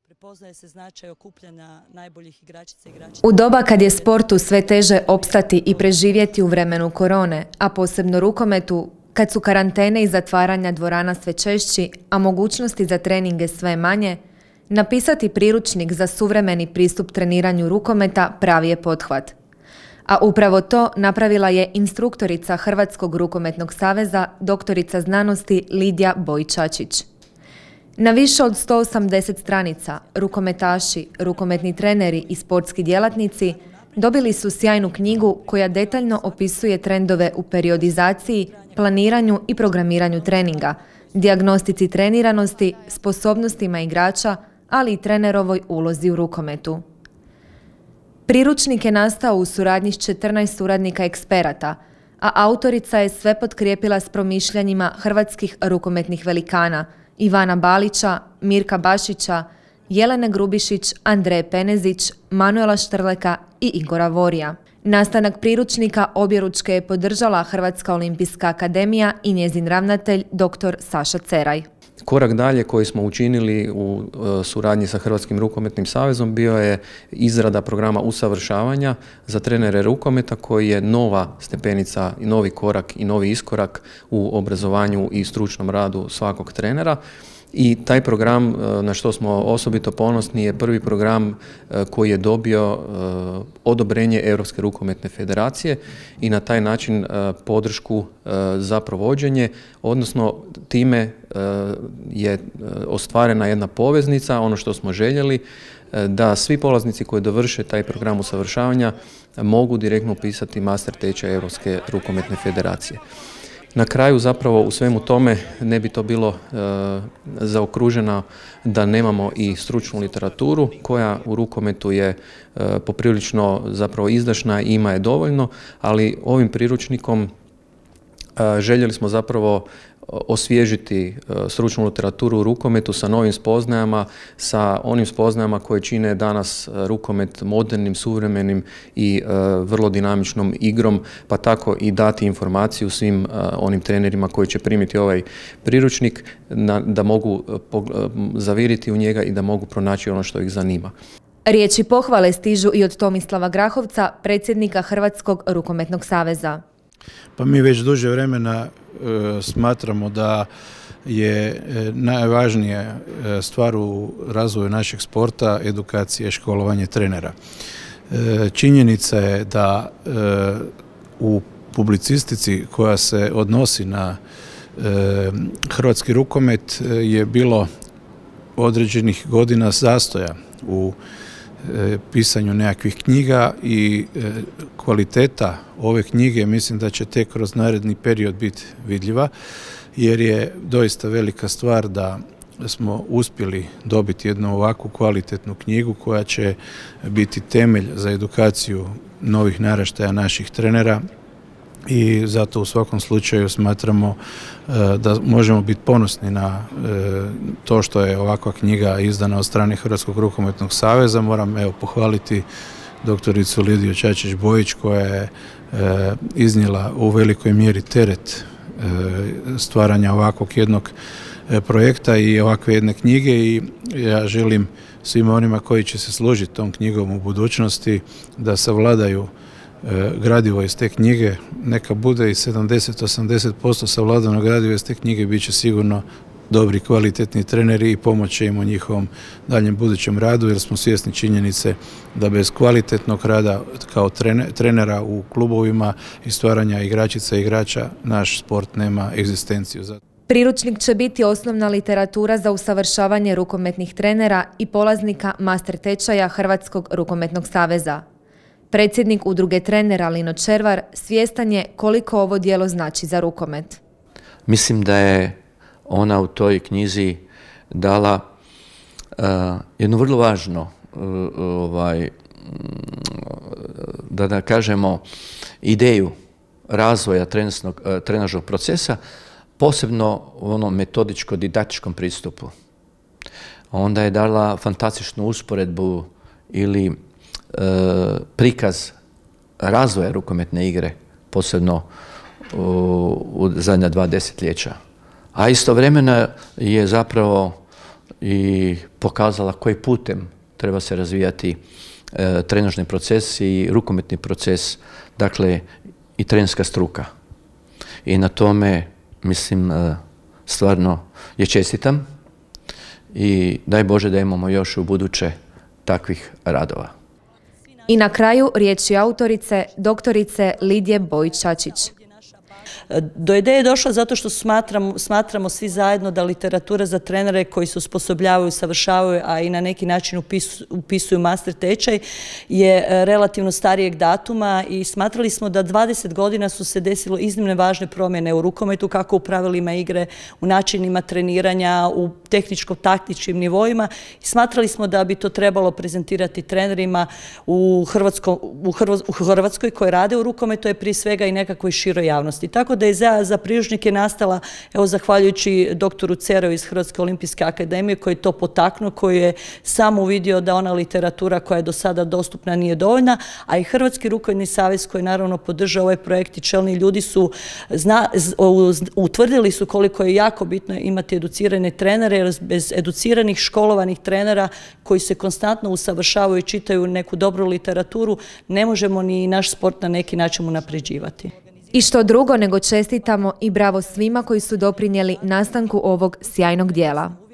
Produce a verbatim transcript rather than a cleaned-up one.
Prepoznaje se značaj okupljanja najboljih igračica i igrača. U doba kad je sportu sve teže opstati i preživjeti u vremenu korone, a posebno rukometu, kad su karantene i zatvaranja dvorana sve češći, a mogućnosti za treninge sve manje, napisati priručnik za suvremeni pristup treniranju rukometa pravi je pothvat. A upravo to napravila je instruktorica Hrvatskog rukometnog saveza, doktorica znanosti Lidija Bojić-Čačić. Na više od sto osamdeset stranica, rukometaši, rukometni treneri i sportski djelatnici dobili su sjajnu knjigu koja detaljno opisuje trendove u periodizaciji, planiranju i programiranju treninga, dijagnostici treniranosti, sposobnostima igrača, ali i trenerovoj ulozi u rukometu. Priručnik je nastao u suradnji s četrnaest suradnika eksperata, a autorica je sve potkrijepila s promišljanjima hrvatskih rukometnih velikana Ivana Balića, Mirka Bašića, Jelene Grubišić, Andreje Penezić, Manuela Štrleka i Igora Vorija. Nastanak priručnika objeručke je podržala Hrvatska olimpijska akademija i njezin ravnatelj dr. Saša Ceraj. Korak dalje koji smo učinili u suradnji sa Hrvatskim rukometnim savezom bio je izrada programa usavršavanja za trenere rukometa koji je nova stepenica i novi korak i novi iskorak u obrazovanju i stručnom radu svakog trenera. I taj program, na što smo osobito ponosni, je prvi program koji je dobio odobrenje Europske rukometne federacije i na taj način podršku za provođenje, odnosno time je ostvarena jedna poveznica, ono što smo željeli, da svi polaznici koji dovrše taj program usavršavanja mogu direktno upisati master tečaj Europske rukometne federacije. Na kraju zapravo u svemu tome ne bi to bilo e, zaokruženo da nemamo i stručnu literaturu koja u rukometu je e, poprilično zapravo izdašna i ima je dovoljno, ali ovim priručnikom e, željeli smo zapravo osvježiti stručnu literaturu u rukometu sa novim spoznajama, sa onim spoznajama koje čine danas rukomet modernim, suvremenim i vrlo dinamičnom igrom, pa tako i dati informaciju svim onim trenerima koji će primiti ovaj priručnik da mogu zaviriti u njega i da mogu pronaći ono što ih zanima. Riječi pohvale stižu i od Tomislava Grahovca, predsjednika Hrvatskog rukometnog saveza. Pa mi već duže vremena e, smatramo da je e, najvažnija stvar u razvoju našeg sporta edukacija i školovanje trenera. E, činjenica je da e, u publicistici koja se odnosi na e, hrvatski rukomet je bilo određenih godina zastoja u pisanju nekakvih knjiga i kvaliteta ove knjige mislim da će tek kroz naredni period biti vidljiva, jer je doista velika stvar da smo uspjeli dobiti jednu ovakvu kvalitetnu knjigu koja će biti temelj za edukaciju novih naraštaja naših trenera. I zato u svakom slučaju smatramo da možemo biti ponosni na to što je ovakva knjiga izdana od strane Hrvatskog rukometnog saveza. Moram evo pohvaliti doktoricu Lidiju Čačić-Bojić koja je iznijela u velikoj mjeri teret stvaranja ovakvog jednog projekta i ovakve jedne knjige i ja želim svima onima koji će se služiti tom knjigom u budućnosti da savladaju gradivo iz te knjige, neka bude i sedamdeset do osamdeset posto savladano gradivo iz te knjige, bit će sigurno dobri, kvalitetni treneri i pomoći im u njihovom daljem budućem radu, jer smo svjesni činjenice da bez kvalitetnog rada kao trenera u klubovima i stvaranja igračica i igrača naš sport nema egzistenciju. Priručnik će biti osnovna literatura za usavršavanje rukometnih trenera i polaznika master tečaja Hrvatskog rukometnog saveza. Predsjednik udruge trenera Lino Červar svjestan je koliko ovo djelo znači za rukomet. Mislim da je ona u toj knjizi dala uh, jednu vrlo važno, uh, ovaj, da da kažemo, ideju razvoja uh, trenažnog procesa, posebno u onom metodičko-didaktičkom pristupu. Onda je dala fantastičnu usporedbu ili prikaz razvoja rukometne igre, posebno u, u zadnja dva desetljeća. A istovremeno je zapravo i pokazala koji putem treba se razvijati e, trenažni proces i rukometni proces, dakle i trenerska struka. I na tome, mislim, e, stvarno je čestitam i daj Bože da imamo još u buduće takvih radova. I na kraju riječi autorice, doktorice Lidije Bojić-Čačić. Do ideje je došla zato što smatramo, smatramo svi zajedno da literatura za trenere koji se osposobljavaju, savršavaju, a i na neki način upisu, upisuju master tečaj je relativno starijeg datuma i smatrali smo da dvadeset godina su se desilo iznimne važne promjene u rukometu, kako u pravilima igre, u načinima treniranja, u tehničko-taktičkim nivoima. I smatrali smo da bi to trebalo prezentirati trenerima u, Hrvatsko, u, Hrvo, u Hrvatskoj koji rade u rukometu, je prije svega i nekakvoj široj javnosti. Tako da je za, za priručnike nastala, evo, zahvaljujući doktoru Cerovu iz Hrvatske olimpijske akademije, koji je to potaknuo, koji je sam uvidio da ona literatura koja je do sada dostupna nije dovoljna, a i Hrvatski rukometni savez koji naravno podržava ovaj projekt i čelni ljudi su zna, utvrdili su koliko je jako bitno imati educirane trenere, jer bez educiranih, školovanih trenera koji se konstantno usavršavaju i čitaju neku dobru literaturu, ne možemo ni naš sport na neki način unapređivati. I što drugo nego čestitamo i bravo svima koji su doprinijeli nastanku ovog sjajnog dijela.